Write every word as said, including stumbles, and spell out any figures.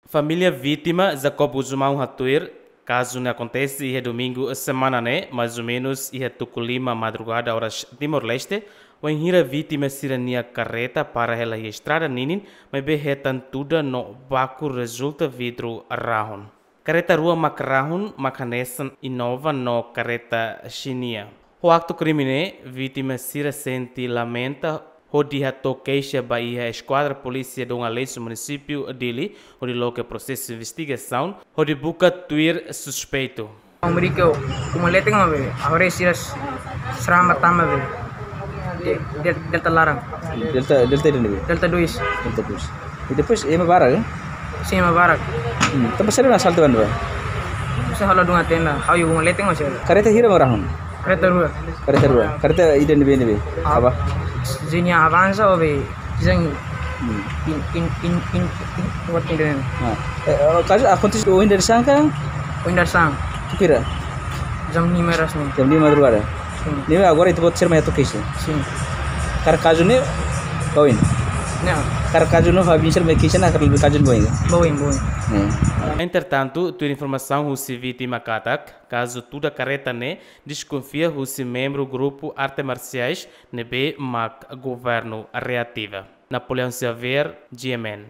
Família vítima, Jacob Gusmão, hatuir, kazu ne'e akontese iha domingu semana ne'e, mais ou menus iha tuku lima madrugada oras Timor-Leste, wainhira vítima sira-nia karreta para hela iha estrada ninin, maibé hetan tuda no baku rezulta vidru rahun. Karreta rua mak rahun, mak hanesan Innova no karreta Xenia. Ho aktu krime ne'e, vítima sira sente lamenta, hodi hato'o keixa ba iha Eskuadra Polísia Dom Aleixo, munisípiu Dili, hodi loke prosesu investigasaun, hodi buka tuir suspeitu. Amerika, kuma leten be, agora sira s-, srama tama be. De-, del-, Delta laran. Delta, Delta ida-ne'ebé? Delta dois. Delta dois. I depois, ema barak, eh? Sin, ema barak. Hmm, tanba saida mak asaltu ba ne'ebá? Bisa halo dunga tenda, ha'u iha uma leten masih ada. Karreta hira mak rahun? Karreta rua. Karreta rua. Karreta ida-ne'ebé, ne'ebé? Ah. Apa? Xenia Avanza ou be, Xenia. Hmm. In, in, in, in, in, what in the name? Ah. Eh, eh, kazu akontese ohin dadeer-saan ka? Ohin dadeer-saan. Tuku hira? Jam lima oras ne'e. Jam lima madrugada. Sin. Ne'ebé agora ita-boot sira mai hato'o keixa? Sin. Karik kazu ne'e, ba oin? Ne'e. Karik kazu ne'e, família sira mai keixa ona, karik kazu ne'e ba oin? Ba oin, ba oin. Hmm. Entretantu, tuir informasaun husi vítima katak, kazu tuda karreta ne'e deskonfia husi membru grupu arte marsiais ne'ebé mak governu reativa. Napoleão Xavier, G M N.